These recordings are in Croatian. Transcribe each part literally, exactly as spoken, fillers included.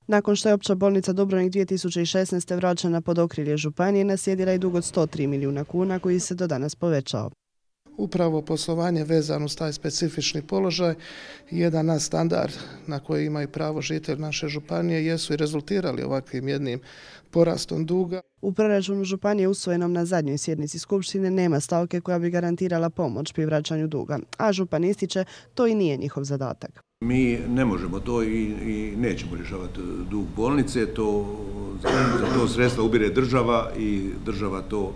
Nakon što je Opća bolnica Dubrovnik dvije tisuće šesnaeste. vraćena pod okrilje županije, naslijedila je dug od sto tri milijuna kuna koji se do danas povećao. Upravo poslovanje vezano uz taj specifični položaj, jedan nadstandard na koji imaju pravo žitelji naše županije jesu i rezultirali ovakvim jednim porastom duga. U proračunu županije usvojenom na zadnjoj sjednici skupštine nema stavke koja bi garantirala pomoć pri vraćanju duga, a župan ističe to i nije njihov zadatak. Mi ne možemo to i, i nećemo rješavati dug bolnice, to, za, za to sredstva ubire država i država to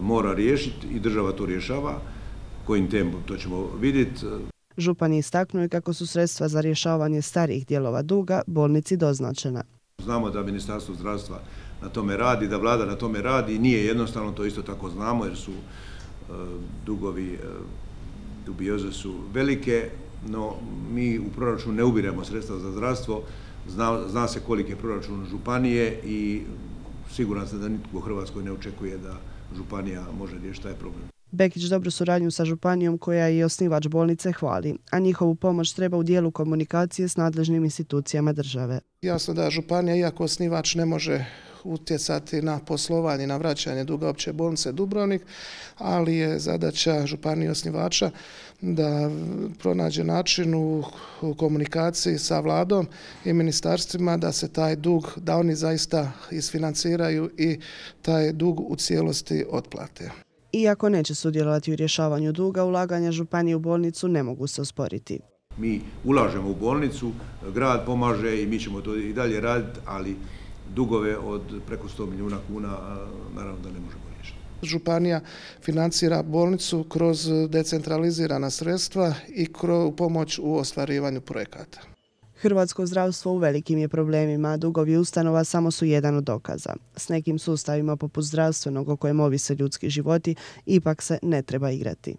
mora riješiti i država to rješava. Kojim tempom to ćemo vidjeti. Župan je istaknuo kako su sredstva za rješavanje starijih dijelova duga bolnici doznačena. Znamo da Ministarstvo zdravstva na tome radi, da vlada na tome radi i nije jednostavno, to isto tako znamo jer su uh, dugovi, uh, dubioze su velike, no mi u proračunu ne ubiremo sredstva za zdravstvo, zna, zna se koliki je proračun županije i siguran sam da nitko u Hrvatskoj ne očekuje da županija može riješiti taj problem. Bekić dobru suradnju sa županijom koja je i osnivač bolnice hvali, a njihovu pomoć treba u dijelu komunikacije s nadležnim institucijama države. Jasno da županija, iako osnivač, ne može utjecati na poslovanje i na vraćanje duga Opće bolnice Dubrovnik, ali je zadaća županije osnivača da pronađe način u komunikaciji sa vladom i ministarstvima da se taj dug, da oni zaista isfinanciraju i taj dug u cijelosti otplate. Iako neće sudjelovati u rješavanju duga, ulaganja županije u bolnicu ne mogu se osporiti. Mi ulažemo u bolnicu, grad pomaže i mi ćemo to i dalje raditi, ali dugove od preko sto milijuna kuna naravno da ne možemo riješiti. Županija financira bolnicu kroz decentralizirana sredstva i kroz pomoć u ostvarivanju projekata. Hrvatsko zdravstvo u velikim je problemima, a dugovi ustanova samo su jedan od dokaza. S nekim sustavima poput zdravstvenog o kojem ovise ljudski životi ipak se ne treba igrati.